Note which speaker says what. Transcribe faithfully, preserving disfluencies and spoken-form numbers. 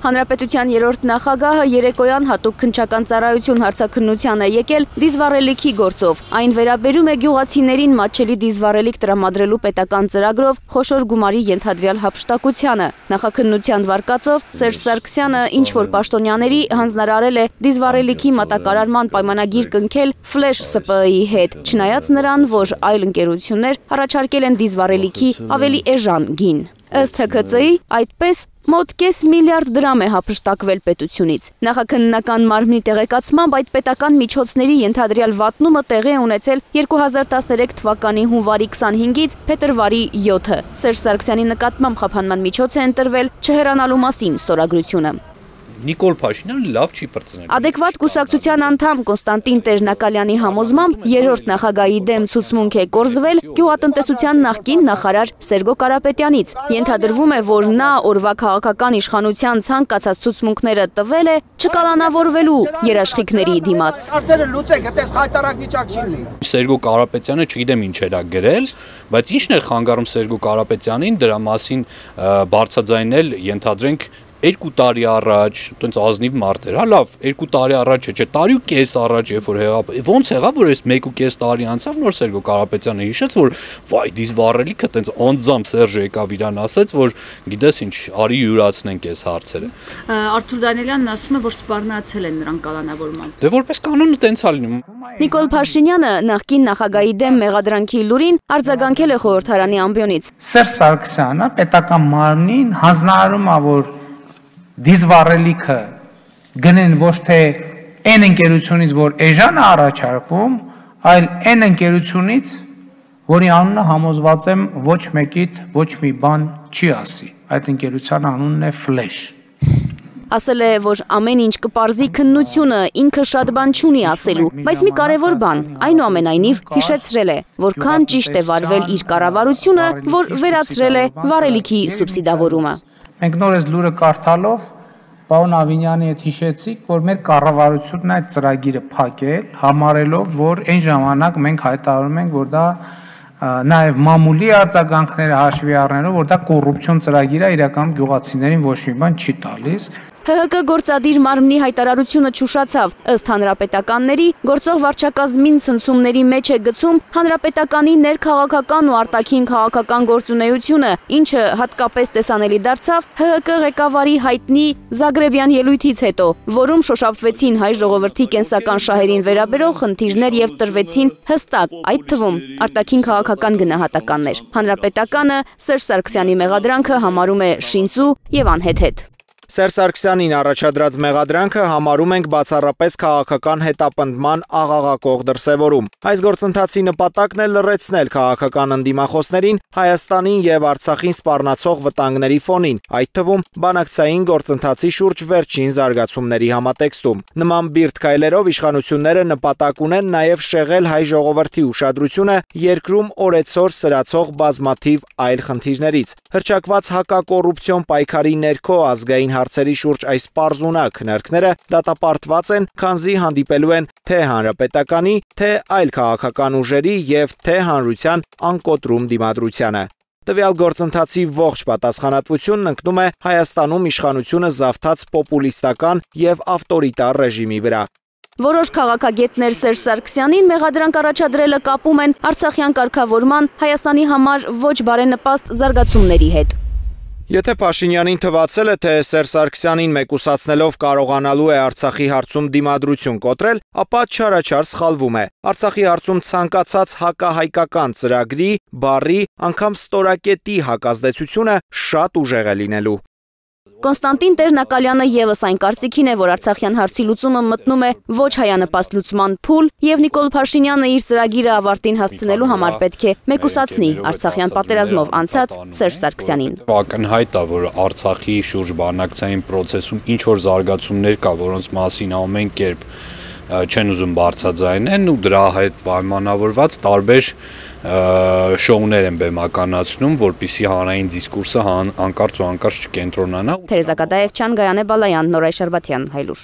Speaker 1: Հանրապետության երրորդ նախագահը երեկոյան հատուկ քննչական ծառայություն հարցաքննության է եկել դիզվառելիքի գործով։ Այն վերաբերում է գյուղացիներին մատչելի դիզվառելիք տրամադրելու պետական ծրագրով խոշոր գումարի ենթադրյալ հափշտակությանը։ Նախաքննության վարկածով Սերժ Սարգսյանը ինչ-որ պաշտոնյաների հանձնարարել է դիզվառելիքի մատակարարման պայմանագիր կնքել Ֆլեշ Ս ՊԸ ի հետ, չնայած նրան, որ այլ ընկերություններ առաջարկել են դիզվառելիքի ավելի էժան գին։ Ըստ Հ Ք Ծ-ի այդպես մոտ կես միլիարդ դրամ է հափշտակվել պետությունից։ Նախաքննական մարմնի տեղեկացմամբ այդ պետական միջոցների ենթադրյալ վատնումը տեղի է ունեցել երկու հազար տասներեք թվականի հունվարի քսանհինգից փետրվարի յոթը։ Սերժ Սարգսյանի նկատմամբ խափանման միջոց է ընտրվել չհեռանալու մասին ստորագրությունը։
Speaker 2: Նիկոլ Փաշինյանը լավ չի պրծնել։
Speaker 1: Adekvat կուսակցության անդամ Կոնստանտին Տեր-Նակալյանի համոզմամբ երրորդ նախագահի դեմ ցուցմունք է կորզվել գյուղատնտեսության նախկին նախարար Սերգո Կարապետյանից։ Ենթադրվում է, որ նա օրվա քաղաքական իշխանության ցանկացած ցուցմունքները տվել է չկալանավորվելու երաշխիքների դիմաց։
Speaker 3: Հարցերը լուծեք, այդպես խայտարակ վիճակ չի լինի։
Speaker 2: Սերգո Կարապետյանը չգիտեմ ինչ էր գրել, բայց ինչն էր խանգարում Սերգո Կարապետյանին դրա մասին բարձրաձայնել, ենթադրենք երկու տարի առաջ, տենց ազնիվ մարդ էր, հա լավ, երկու տարի առաջ չէ, տարի ու կես առաջ, երբ որ եղավ, ոնց եղավ, որ այս մեկ ու կես տարի անցավ, նոր Սերգո Կարապետյանը հիշեց, որ վայ, դիզվառելիքը տենց անձամբ Սերժը եկավ իրան ասեց, որ գիտես ինչ, արի յուրացնենք այս հարցերը։
Speaker 4: Արթուր Դանիելյանն ասում է, որ սպառնացել են նրան կալանավորմամբ։
Speaker 2: Դե որպես կանոնը տենց է լինում։
Speaker 1: Նիկոլ Փաշինյանը նախկին նախագահի դեմ մեղադրանքի լուրին արձագանքել է խորհրդարանի ամբիոնից։
Speaker 5: Սերժ Սարգսյանը պետական մարմնին հանձնարարում է, որ դիզվառելիքը գնեն ոչ թե այն ընկերությունից, որ էժան է առաջարկվում, այլ այն ընկերությունից, որի անունը համոզված եմ ոչ մեկիդ ոչ մի բան չի ասի։ Այդ ընկերության անունն է Ֆլեշ։
Speaker 1: Ասել է, որ ամեն ինչ կպարզի քննությունը, ինքը շատ բան չունի ասելու, բայց մի կարևոր բան, այնուամենայնիվ հիշեցրել է, որքան ճիշտ է վարվել իր կառավարությունը, որ վերացրել է վառելիքի սուբսիդավորումը։
Speaker 5: Մենք նոր այս լուրը կարդալով պարոն Ավինյանի հետ հիշեցիք, որ մեր կառավարությունն այդ ծրագիրը փակել, համարելով, որ այն ժամանակ մենք հայտարարում ենք, որ դա նաև մամուլի արձագանքները հաշվի առնելով, որ դա կոռուպցիոն ծրագիր է, իրականում գյուղացիներին ոչ մի բան չի տալիս։
Speaker 1: Հ Հ Կ գործադիր մարմնի հայտարարությունը չուշացավ, ըստ հանրապետականների գործող վարչակազմին ցնցումների մեջ է գցում հանրապետականի ներքաղաքական ու արտաքին քաղաքական գործունեությունը, ինչը հատկապես տեսանելի դարձավ Հ Հ Կ ղեկավարի հայտնի Զագրեբյան ելույթից հետո, որում շոշափվեցին հայ ժողովրդի կենսական շահերին վերաբերող խնդիրներ եւ տրվեցին հստակ, այդ թվում արտաքին քաղաքական գնահատականներ։ Հանրապետականը Սերժ Սարգսյանի մեղադրանքը համարում է շինծու եւ անհեթեթ։
Speaker 6: Սերժ Սարգսյանին առաջադրած մեղադրանքը համարում ենք բացառապես քաղաքական հետապնդման աղաղակող դրսևորում։ Այս գործընթացի նպատակն է լռեցնել քաղաքական ընդդիմախոսներին Հայաստանին եւ Արցախին սպառնացող վտանգների ֆոնին, այդ թվում բանակցային գործընթացի շուրջ վերջին զարգացումների համատեքստում։ Նման բիրտ քայլերով իշխանությունները նպատակ ունեն նաեւ շեղել հայ ժողովրդի ուշադրությունը երկրում օրեցօր սրացող բազմաթիվ այլ խնդիրներից։ Հռչակված հակակոռուպցիոն պայքարի ներքո ազգային հարցերի շուրջ այս պարզունակ քննարկները դատապարտված են, քանզի հանդիպելու են թե հանրապետականի, թե այլ քաղաքական ուժերի եւ թե հանրության անկոտրում դիմադրությանը։ Տվյալ գործընթացի ողջ պատասխանատվությունն ընկնում է Հայաստանում իշխանությունը զավթած պոպուլիստական եւ ավտորիտար ռեժիմի վրա։
Speaker 1: Որոշ քաղաքագետներ Սերժ Սարգսյանին մեղադրանք առաջադրելը կապում են Արցախյան կարգավորման Հայաստանի համար ոչ բարենպաստ զարգացումների հետ։
Speaker 6: Եթե Փաշինյանին թվացել է, թե Սերժ Սարգսյանին մեկուսացնելով կարողանալու է Արցախի հարցում դիմադրություն կոտրել, ապա չարաչար սխալվում է։ Արցախի հարցում ցանկացած հակահայկական ծրագրի, բառի, անգամ ստորակետի հակազդեցությունը շատ ուժեղ է լինելու։
Speaker 1: Կոնստանտին Տեր-Նակալյանը եւս այն կարծիքին է, որ Արցախյան հարցի լուծումը մտնում է ոչ հայանպաստ լուծման փուլ, եւ Նիկոլ Փաշինյանը իր ծրագիրը ավարտին հասցնելու համար պետք է մեկուսացնի Արցախյան պատերազմով անցած Սերժ Սարգսյանին։
Speaker 2: Ակնհայտ է, որ Արցախի շուրջ բանակցային process-ում ինչ որ զարգացումներ կա, որոնց մասին ամեն կերպ չեն ուզում բարձրաձայնեն ու դրա հետ պայմանավորված տարբեր շոուներ են բեմականացնում, որպեսզի հանրային դիսկուրսը անկարծ ու անկարծ չկենտրոնանա։
Speaker 1: Թերեզա Կադաևչյան, Գայանե Բալայան, Նորայր Շարբաթյան, Հայլուր։